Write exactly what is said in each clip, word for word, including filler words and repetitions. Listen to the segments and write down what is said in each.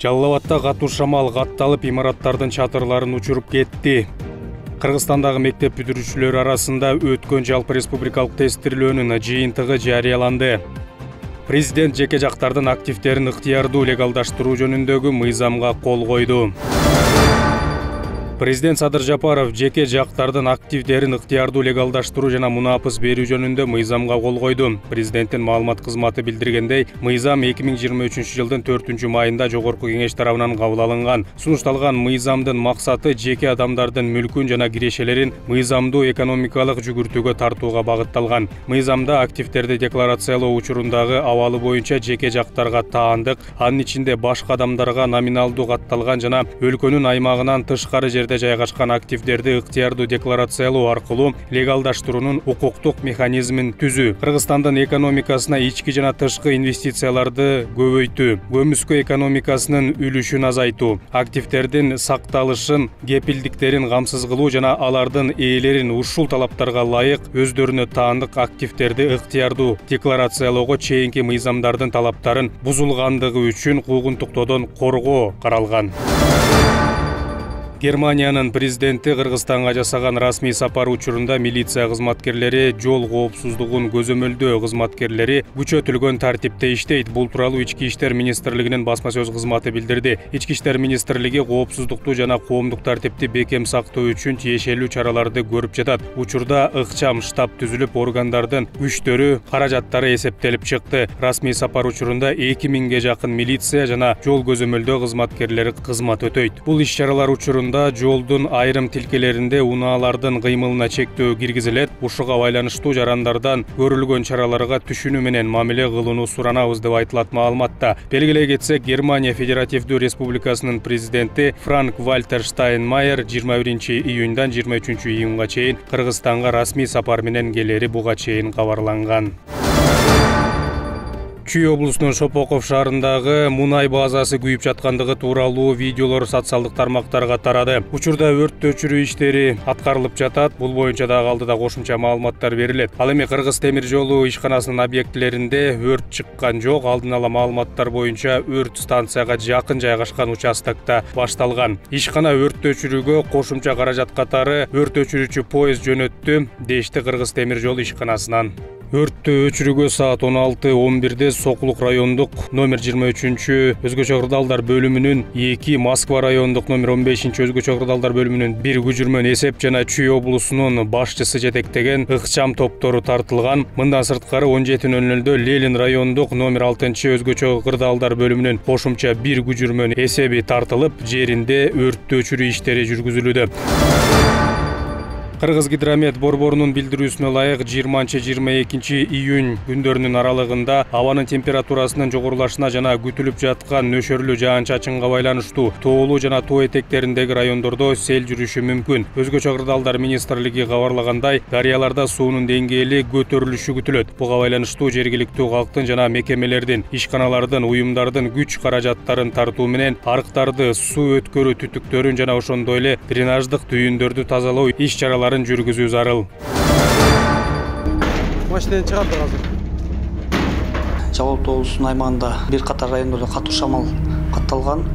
Жалал Абадта катуу шамал катталып, имараттардын чатырларын учуруп кетти. Кыргызстандагы мектеп бүтүрүүчүлөр арасында өткөн жалпы республикалык тестирлөөнүн жыйынтыгы жарыяланды. Президент жеке жактардын активдерин ыктыярдуу легалдаштыруу жөнүндөгү мыйзамга кол койду. Президент Садыр Жапаров жеке жактардын активдерин ыктыярдуу легалдаштыруу жана мунапыс берүү жөнүндө мыйзамга кол койду. Президенттин маалымат кызматы билдиргендей, мыйзам эки миң жыйырма үчүнчү жылдын төртүнчү майында Жогорку Кеңеш тарабынан кабыл алынган. Сунушталган мыйзамдын максаты жеке адамдардын мүлкүн жана кирешелерин мыйзамдуу экономикалык жүгүртүүгө тартууга багытталган. Мыйзамда активдерди декларациялоо учурундагы абалы боюнча жеке жактарга таандык, анын ичинде башка адамдарга номиналдуу катталган жана өлкөнүн аймагынан тышкары жерде жайгашкан активдерди ыктыярдуу декларациялоо аркылуу легалдаштыруунун укуктук механизмин түзүү, Кыргызстандын экономикасына ички жана тышкы инвестицияларды көбөйтүү, көмүскө экономикасынын үлүшүн азайтуу, активдердин сакталышын, кепилдиктерин камсыз кылуу жана алардын ээлерин ушул талаптарга ылайык өздөрүнө таандык активдерди ыктыярдуу декларациялоого чейинки мыйзамдардын талаптарын бузулгандыгы үчүн куугунтуктоодон коргоо каралган. Германиянын президенти Кыргызстанга жасаган расмий сапар учурунда милиция кызматкерлери жол коопсуздугун көзөмөлдөө кызматкерлери күчөтүлгөн тартипте иштейт. Бул тууралуу Ички иштер министрлигинин басма сөз кызматы билдирди. Ички иштер министрлиги коопсуздукту жана коомдук тартипти бекем сактоо үчүн тиешелүү чараларды көрүп жатат. Учурда ыкчам штаб түзүлүп, органдардын күчтөрү, каражаттары эсептелип чыкты. Расмий сапар учурунда эки миңге жакын милиция жана жол көзөмөлдөө кызматкерлери кызмат өтөйт. Бул иш-чаралар учурунда жолдун айрым тилкелеринде унаалардын кыймылына чектөө киргизилет. Ушуга байланыштуу жарандардан көрүлгөн чараларга түшүнүү менен мамиле кылууну суранабыз деп айтылат маалыматта. Белгилей кетсек, Германия Федеративдүү Республикасынын президенти Франк-Вальтер Штайнмайер жыйырма биринчи июндан жыйырма үчүнчү июнга чейин Кыргызстанга расмий сапар менен келери буга чейин кабарланган. Чүй облусунун Шопоков шаарындагы мунай базасы күйүп жаткандыгы тууралуу видеолор социалдык тармактарга тарады. Учурда өрт өчүрүү иштери аткарылып жатат. Бул боюнча дагы алдыда кошумча маалыматтар берилет. Ал эми Кыргыз темир жолу ишканасынын объектилеринде өрт чыккан жок. Алдын ала маалыматтар боюнча өрт станцияга жакын жайгашкан участокто башталган. Ишкана өрт өчүрүүгө кошумча каражат катары өрт өчүрүүчү поезд жөнөттү, дешти Кыргыз темир жолу ишканасынан. Өрттү өчүрүүгө саат он алты он бирде Сокулук райондук номер жыйырма үчүнчү өзгөчө кырдаалдар бөлүмүнүн эки, Москва райондук номер он бешинчи өзгөчө кырдаалдар бөлүмүнүн бир күжүрмөн эсеп жана Чүй облусунун башчысы жетектеген ыкчам топтору тартылган. Мындан сырткары он жети нөл нөлдө Ленин райондук номер алтынчы өзгөчө кырдаалдар бөлүмүнүн кошумча бир күжүрмөн эсеби тартылып, жеринде өрттү өчүрүү иштери жүргүзүлүүдө. Кыргыз гидромет борборунун билдирүүсүнө ылайык жыйырманчы жыйырма экинчи июнь күндөрүнүн аралыгында абанын температурасынын жогорулашына жана күтүлүп жаткан нөшөрлүү жаан-чачынга байланыштуу тоолуу жана тоо этектериндеги райондордо сел жүрүшү мүмкүн. Өзгөчө кырдаалдар министрлиги кабарлагандай, дарыяларда суунун деңгээли көтөрүлүшү күтүлөт. Буга байланыштуу жергиликтүү калктын жана мекемелердин, ишканалардын, уюмдардын күч каражаттарын тартуу менен арыктарды, суу өткөрүү түтүктөрүн жана ошондой эле дренаждык түйүндөрдү тазалоо иш-чаралары жүргүзүү зарыл. Машинадан чыгарды азыр. Жалал Абад облусунун аймагында бир катар райондордо катуу шамал катталган.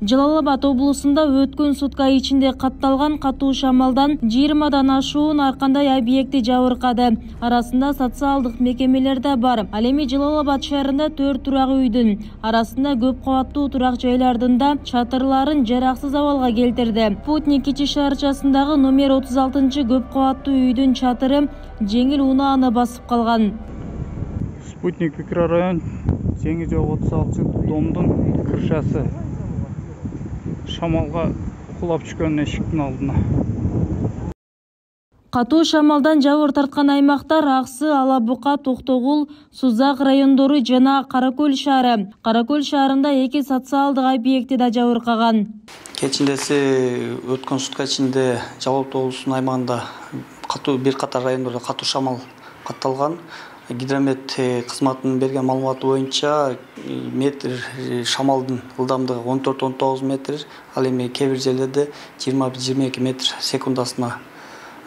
Жалал Абад облусунда өткөн сутка ичинде катталган катуу шамалдан жыйырмадан ашуун ар кандай объекти жабыркады. Арасында социалдык мекемелер да бар. Ал эми Жалал Абад шаарында төрт турак үйдүн арасында көп кабаттуу турак жайлардын да чатырларын жараксыз абалга келтирди. Спутник кичи шаарчасындагы номер отуз алтынчы көп кабаттуу үйдүн чатыры жеңил унааны басып калган. Спутник микрорайон жеңи жок отуз алтынчы домдун кыршасы шамалга кулап түшкөн эшиктин алдына. Катуу шамалдан жабыр тарткан аймактар Аксы, Ала Бука, Токтогул, Сузак райондору жана Каракөл шаары. Каракөл шаарында эки социалдык объекти да жабыркаган. Кечиндеси өткөн сутка ичинде Жалал Абад облусунун аймагында катуу бир катар райондордо катуу шамал катталган. Гидромет кызматынын берген маалыматы боюнча метр шамалдын ылдамдыгы он төрт он тогуз метр, ал эми кээ бир жерлерде жыйырма бир жыйырма эки метр секундасына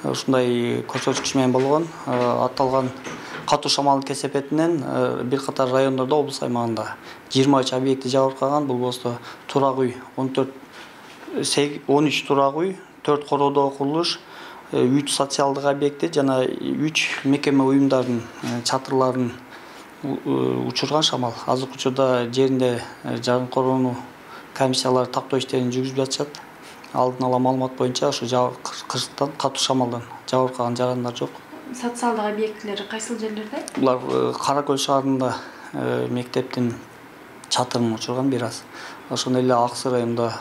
ушундай көрсөткүч менен болгон. Аталган катуу шамалдын кесепетинен бир катар райондордо облус аймагында жыйырма үч объекти жабыркаган. Бул болсо турак үй он төрт он үч турак үй, төрт короодогу курулуш, үч социалдык объекти жана үч мекеме уюмдардын чатырларын учурган шамал. Азыркы учурда жеринде жаран короону комиссиялары тактоо иштерин жүргүзүп жатышат. Алдын ала маалымат боюнча ошо кырсыктан катуу шамалдан жабыркаган жарандар жок. Социалдык объектилер кайсыл жерлерде? Булар Кара Көл шаарында мектептин чатырын учурган бир аз. Ошондой эле Ак Сый районунда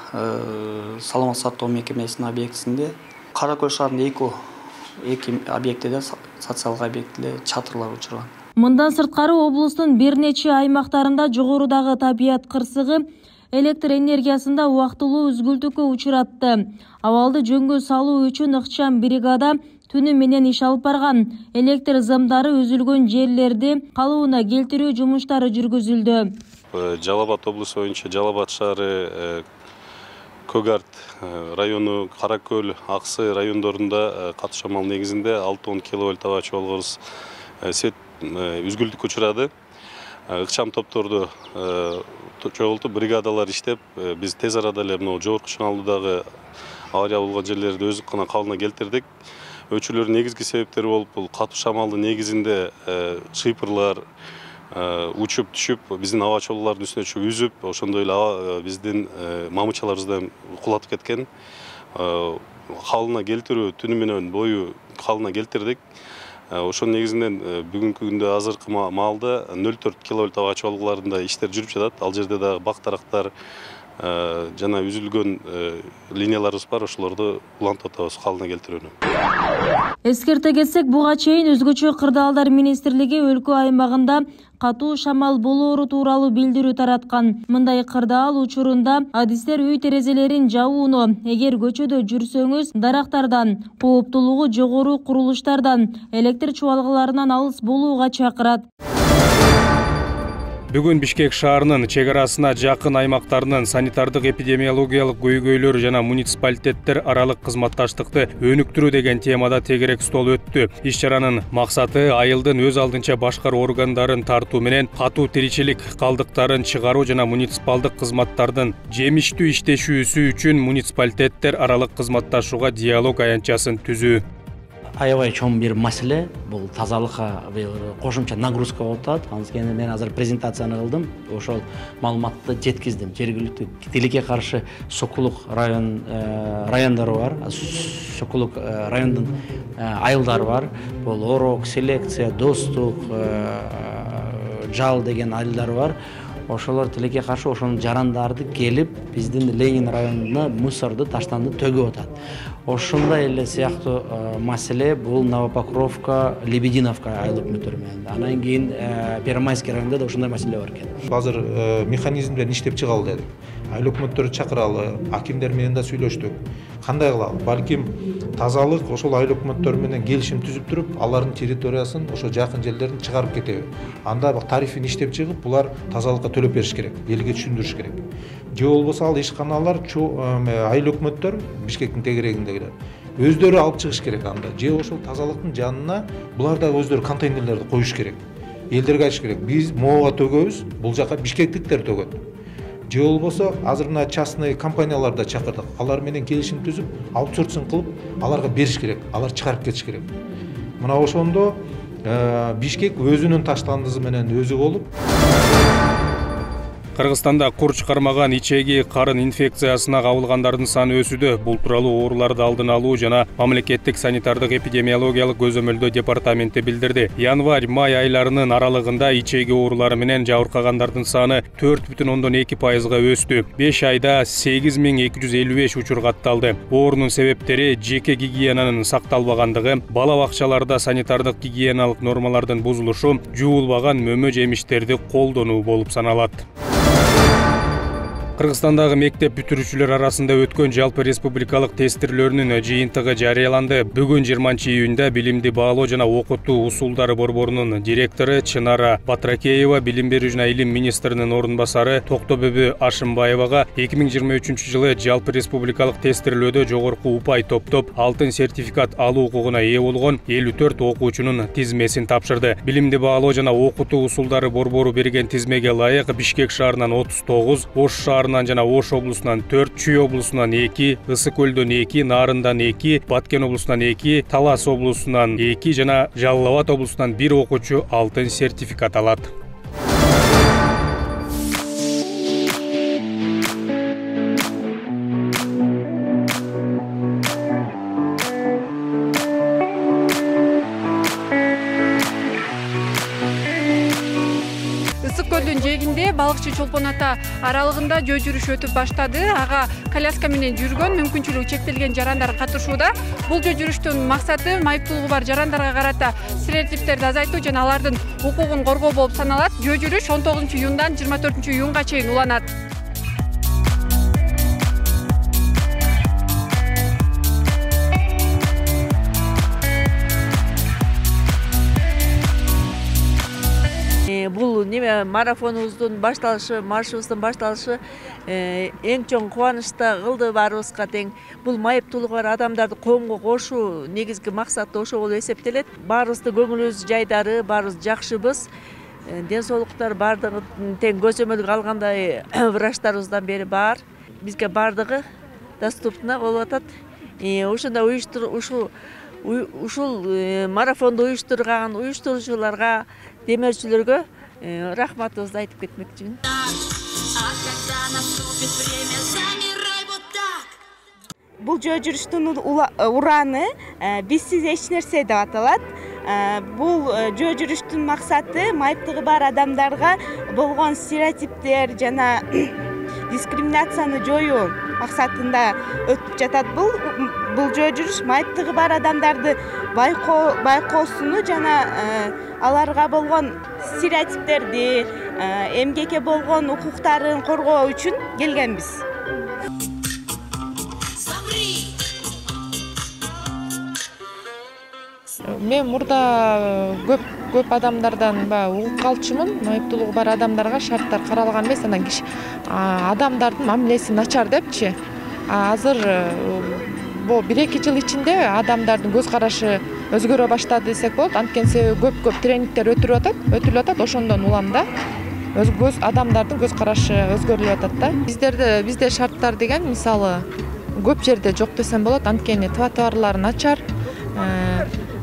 саламат сактоо мекемесинин объектисинде, Кара Көл шаарында эки эки объектиде социалдык объектиде чатырлар учурган. Мындан сырткары облустун бир нече аймактарында жогорудагы табият кырсыгы электр энергиясында убактылуу үзгүлтүүгө учуратты. Абалды жөнгө салуу үчүн ыкчам бригада түнү менен иш алып барган. Электр зымдары үзүлгөн жерлерди калыбына келтирүү жумуштары жүргүзүлдү. Жалал Абад облусу боюнча Жалал Абад шаары, Көгарт району, Кара Көл, Ак Сый райондорунда катуу шамал негизинде алты он киловольт аба чогулгус свет үзгүлтүккө учурады. Ыкчам топторду чогултуп бригадалар иштеп, биз тез арада эле мына жогорку чыңалуудагы авария болгон жерлерди өздүк гана калыбына келтирдик. Өчүрүүнүн негизги себептери болуп, бул катуу шамалдын негизинде шыйпырлар учуп түшүп, биздин аба чолуулардын үстүнө чыгып үзүп, ошондой эле биздин мамычаларыбыздан кулатып кеткен. Калыбына келтирүү түнү менен бою калыбына келтирдик. Ошонун негизинен бүгүнкү күндө азыркы маалда нөл төрт киловольт аба чогулууларында иштер жүрүп жатат. Ал жерде дагы бак-дарактар жана үзүлгөн линияларыбыз бар, ошолорду улантып атабыз калыбына келтирүүнү. Эскерте кетсек, буга чейин өзгөчө кырдаалдар министрлиги өлкө аймагында катуу шамал болоору тууралуу билдирүү тараткан. Мындай кырдаал учурунда адистер үй терезелерин жабууну, эгер көчөдө жүрсөңүз, дарактардан, кооптуулугу жогору курулуштардан, электр чубалгыларынан алыс болууга чакырат. Бүгүн Бишкек шаарынын чек арасына жакын аймактарынын санитардык эпидемиологиялык көйгөйлөр жана муниципалитеттер аралык кызматташтыкты өнүктүрүү деген темада тегерек стол өттү. Иш чаранын максаты айылдын өз алдынча башкаруу органдарын тартуу менен катуу тиричилик калдыктарын чыгаруу жана муниципалдык кызматтардын жемиштүү иштешүүсү үчүн муниципалитеттер аралык кызматташууга диалог аянтчасын түзүү. Аябай чоң бир маселе, бул тазалыкка кошумча нагрузка болуп атат. Анткени мен азыр презентацияны кылдым, ошол маалыматты жеткиздим. Жергиликтүү тилекке каршы Сокулук район райондору бар. Сокулук райондун айылдары бар. Бул Орок, Селекция, Достук, Жал деген айылдары бар. Ошолор тилекке каршы ошонун жарандарды келип биздин Ленин районуна мусорду, таштанды төгүп атат. Ошондой эле сыяктуу маселе бул Новопокровка, Лебединовка айыл өкмөттөрү менен. Анан кийин Первомайский районунда да ошондой маселе бар экен. Азыр механизм менен иштеп чыгалы дедик. Айыл өкмөттөрү чакыралы, акимдер менен да сүйлөштүк. Кандай кылалы? Балким тазалык ошол айыл өкмөттөрү менен келишим түзүп туруп, алардын территориясын ошо жакын жерлерин чыгарып кетеби. Анда тарифин иштеп чыгып, булар тазалыкка төлөп бериш керек, элге түшүндүрүш керек. Же болбосо ал ишканалар айыл өкмөттөр Бишкектин тегерегиндегилер өздөрү алып чыгыш керек анда. Же ошол тазалыктын жанына булар да өздөрү контейнерлерди коюш керек. Элдерге айтыш керек. Биз моого төгөбүз, бул жака бишкектиктер төгөт. Же болбосо азыр мына частный компанияларды чакырдык. Алар менен келишим түзүп, аутсорсинг кылып, аларга бериш керек. Алар чыгарып кетиш керек. Мына ошондо Бишкек өзүнүн таштандысы менен өзү болуп. Кыргызстанда кур чыгармаган ичеги карын инфекциясына кабылгандардын саны өсүүдө. Бул тууралуу ооруларды алдын алуу жана мамлекеттик санитардык эпидемиологиялык көзөмөлдөө департаменти билдирди. Январь-май айларынын аралыгында ичеги оорулары менен жабыркагандардын саны төрт бүтүн ондон эки пайызга өстү. беш айда сегиз миң эки жүз элүү беш учур катталды. Оорунун себептери жеке гигиенанын сакталбагандыгы, бала бакчаларда санитардык гигиеналык нормалардын бузулушу, жуулбаган мөмө жемиштерди колдонуу болуп саналат. Кыргызстандагы мектеп бүтүрүүчүлөр арасында өткөн жалпы республикалык тестирлөөрүнүн жыйынтыгы жарыяланды. Бүгүн жыйырманчы июнда билимди баалоо жана окутуу усулдары борборунун директору Чынара Батракеева, билим берүү жана илим министринин орун басары Токтобөбү Ашымбаевага эки миң жыйырма үчүнчү жылы жалпы республикалык тестирлөөдө жогорку упай топтоп алтын сертификат алуу укугуна ээ болгон элүү төрт окуучунун тизмесин тапшырды. Билимди баалоо жана окутуу усулдары борбору берген тизмеге ылайык Бишкек шаарынан отуз тогуз, Ош шаарынан жана Ош облусунан төрт, Чүй облусунан эки, Ысык көлдөн эки, Нарындан эки, Баткен облусунан эки, Талас облусунан эки жана Жалал Абад облусунан бир окуучу алтын сертификат алат. Ысык көлдүн жээгинде балыкчы Чолпон ата аралыгында жөө жүрүш өтүп баштады. Ага коляска менен жүргөн, мүмкүнчүлүгү чектелген жарандар катышууда. Бул жөө жүрүштүн максаты майыптуулугу бар жарандарга карата стереотиптерди азайтуу жана алардын укугун коргоо болуп саналат. Жөө жүрүш он тогузунчу июндан жыйырма төртүнчү июнга чейин уланат. Бул неме марафонубуздун башталышы, маршыбыздын башталышы эң чоң кубанычта кылды баарыбызга тең. Бул майыптуулугу бар адамдарды коомго кошуу негизги максаты ошо болуп эсептелет. Баарыбыздын көңүлүбүз жайдары, баарыбыз жакшыбыз. Ден соолуктар баардыгы тең көзөмөлгө алгандай врачтарыбыздан бери бар. Бизге баардыгы доступна болуп атат. Ошондо уюштур ушул ушул марафонду уюштурган уюштуруучуларга, демөөрчүлөргө рахматыбызды айтып кетмекчимин. Бул жөө жүрүштүн ураны бизсиз эч нерсе деп аталат. Бул жөө жүрүштүн максаты майыптыгы бар адамдарга болгон стереотиптер жана дискриминацияны жоюу максатында өтүп жатат. Бул бул жөө жүрүш майыптыгы бар адамдарды байкоо байкоосуну жана аларга болгон стереотиптерди, эмгекке болгон укуктарын коргоо үчүн келгенбиз. Мен мурда көп көп адамдардан угуп калчумун. Майыптуулугу бар адамдарга шарттар каралган эмес, анан киши адамдардын мамилеси начар депчи. Азыр бул бир эки жыл ичинде адамдардын көз карашы өзгөрө баштады десек болот. Анткени себеби көп-көп тренингдер өтүлүп атат, өтүлүп атат. Ошондон улам да көз адамдардын көз карашы өзгөрүлүп атат да. Биздерде бизде шарттар деген мисалы көп жерде жок десем болот. Анткени тротуарлар начар,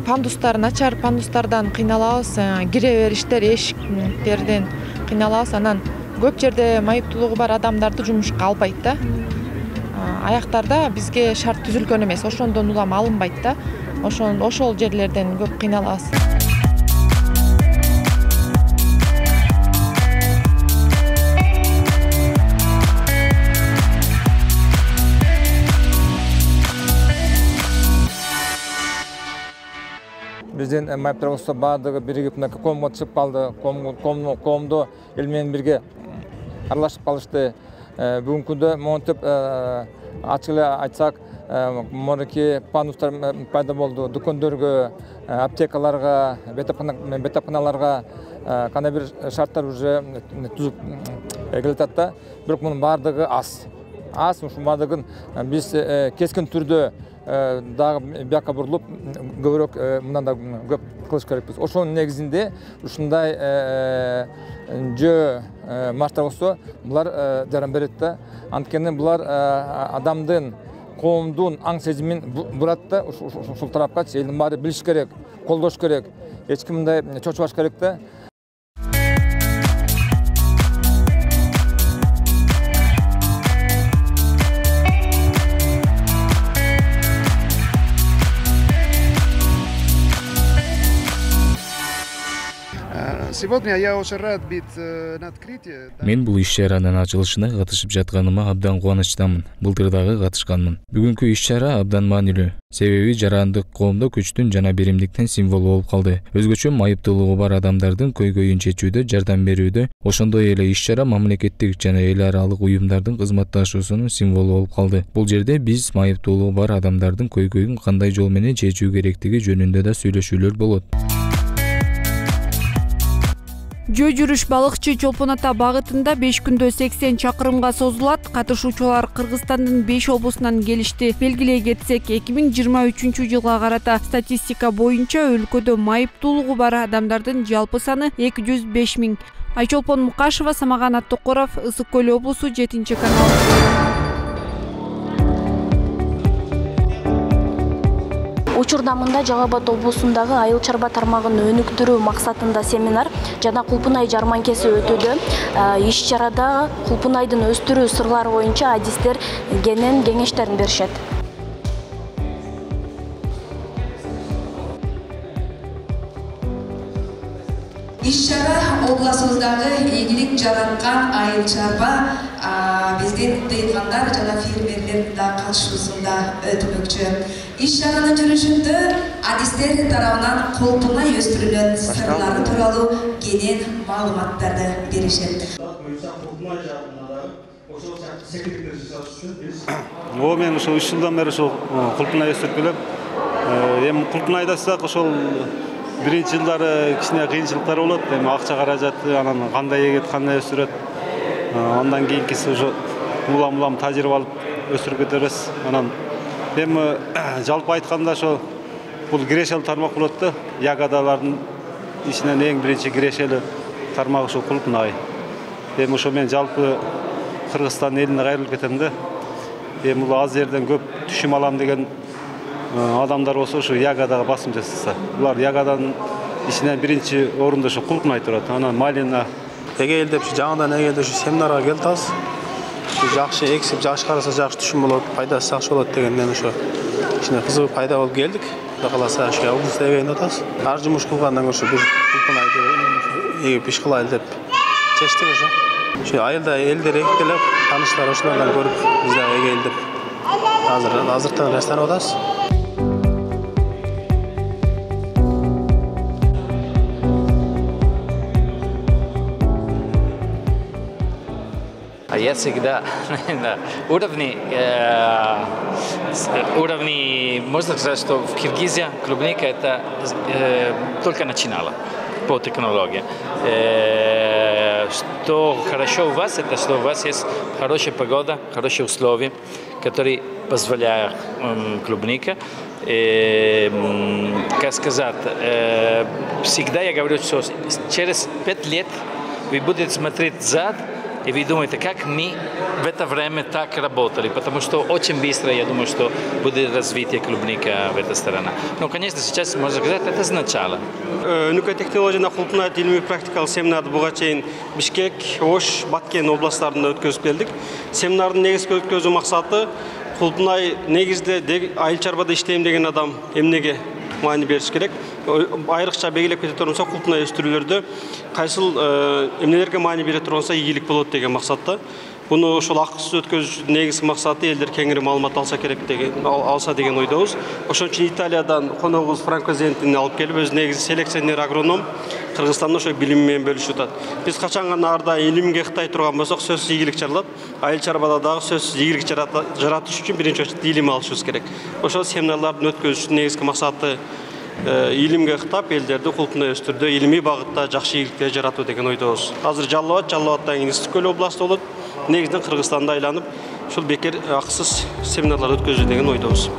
пандустар начар, пандустардан кыйналабыз, кире бериштер, эшиктерден кыйналабыз. Анан көп жерде майыптуулугу бар адамдарды жумушка албайт да. Аяктарда бизге шарт түзүлгөн эмес, ошондон улам алынбайт да. Ошон ошол жерлерден көп кыйналабыз. Биздин майыптарыбыз баардыгы биригип коомго чыгып калды. Коомдо эл менен бирге аралашып калышты. Бүгүнкү күндө монтип ачык эле айтсак, моники пандустар пайда болду. Дүкөндөргө, аптекаларга, бетапканаларга кандай бир шарттар уже түзүп келатат да. Бирок мунун баардыгы аз. Аз, ушун баардыгын биз кескин түрдө дагы бияка бурулуп көбүрөөк мындан да көп кылыш керекпиз. Ошонун негизинде ушундай жөө марштар болсо булар жаран берет да. Анткени булар адамдын, коомдун аң сезимин бурат да. Ушул тарапкачы элдин баары билиш керек, колдош керек. Эч ким мындай чочубаш керек да. Сегодня я очень рад быть на открытии. Мен бул иш-чаранын ачылышына катышып жатканыма абдан кубанычтамын. Былтыр дагы катышканмын. Бүгүнкү иш-чара абдан маанилүү. Себеби жарандык коомдо күчтүн жана беримдиктин символу болуп калды. Өзгөчө майыптуулугу бар адамдардын көйгөйүн чечүүдө жардам берүүдө, ошондой эле иш-чара мамлекеттик жана эл аралык уюмдардын кызматташуусунун символу болуп калды. Бул жерде биз майыптуулугу бар адамдардын көйгөйүн кандай жол менен чечүү керектиги жөнүндө да сүйлөшүүлөр болот. Жөө жүрүш балыкчы Чолпон Ата багытында беш күндө сексен чакырымга созулат. Катышуучулар Кыргызстандын беш облусунан келишти. Белгилей кетсек, эки миң жыйырма үчүнчү жылга карата статистика боюнча өлкөдө майыптуулугу бар адамдардын жалпы саны эки жүз беш миң. Айчолпон Мукашева, Самаган Аттокоров, Ысык Көл облусу, жетинчи канал. Учурда мында Жалал Абад облусундагы айыл чарба тармагын өнүктүрүү максатында семинар жана кулпунай жарманкеси өтүүдө. Иш-чарада кулпунайдын өстүрүү сырлары боюнча адистер кенен кеңештерин беришет. Иш-чара обласыбыздагы ийгилик жараткан айыл чарба биздин дыйкандар жана фермерлер да катышуусунда өтмөкчү. Иш-чаранын жүрүшүндө адистер тарабынан кулпунай өстүрүлгөн сырлары тууралуу кенен маалыматтарды беришет. О, мен ошол үч жылдан бери ошол кулпунай өстүрүп келем. Эми кулпунайда сак ошол биринчи жылдары кичине кыйынчылыктар болот. Эми акча каражаты, анан кандай эгет, кандай өстүрөт. Андан кийинкиси ошо улам-улам тажрыйба алып өстүрүп кетебиз. Анан эми жалпы айтканда ошо бул кирешелүү тармак болот да. Ягодалардын ичинен эң биринчи кирешелүү тармак ошо кулпунай. Эми ошо мен жалпы Кыргызстан элине кайрылып кетем да. Эми бул аз жерден көп түшүм алам деген адамдар болсо ошо ягодага басым жасаса. Булар ягоданын ичинен биринчи орунда ошо кулпунай турат. Анан малина эгелдеп жаңыдан эгелдеп семинарга келип атабыз. Жакшы эксип, жакшы караса жакшы түшүм болот, пайдасы жакшы болот дегенден ошо кичине кызыгып пайда болуп келдик. Кудай кааласа ошо облусту эгейип атабыз. Ар жумуш кылгандан ошо бир кулпунайды эгип иш кылайлы деп чечтик ошо. Ошо айылда элдер эгип келип, тааныштар ошолордон көрүп биз дагы эгейилдеп азыр азыртан жаштанып атабыз. Я всегда на уровне, э, уровне, можно сказать, что в Киргизии клубника это э, только начинала по технологии. Э, что хорошо у вас, это что у вас есть хорошая погода, хорошие условия, которые позволяют э, клубника. Э, как сказать, э, всегда я говорю, что через пять лет вы будете смотреть зад, и вы думаете, как мы в это время так работали, потому что очень быстро, я думаю, что будет развитие клубника в этой стороне. Но, конечно, сейчас, можно сказать, это с начала. Өнүккөн технологияны кулпунай илимий практикалык семинарды буга чейин Бишкек, Ош, Баткен областтарында өткөзүп келдик. Семинардын негизги өткөзүү максаты кулпунай негизде айыл чарбада иштейм деген адам эмнеге маани бериш керек. Айрыкча белгилеп кете тургансак, кулпунай өстүрүүлөрдө кайсыл эмнелерге маани бере турганса ийгилик болот деген максатта. Буну ошол акысыз өткөзүүчүдүн негизги максаты элдер кеңири маалымат алса керек деген алса деген ойдобуз. Ошон үчүн Италиядан коногубуз Франко Зентини алып келип, өз негизи селекционер агроном Кыргызстанда ошо билими менен бөлүшүп атат. Биз качан гана арда илимге кытай турган болсок, сөзсүз ийгилик жаралат. Айыл чарбада дагы сөзсүз ийгилик жаратыш үчүн биринчи очередде илим алышыбыз керек. Ошол семинарлардын өткөзүүчүдүн негизги максаты илимге кытап элдерди кулпунай өстүрүүдө илимий багытта жакшы ийгиликтер жаратуу деген ойдобуз. Азыр Жалал Абад, Жалал Абаддан кийин Ысык Көл областы болот. Негизинен Кыргызстанды айланып, ушул бекер акысыз семинарлар өткөзүү деген ойдобуз.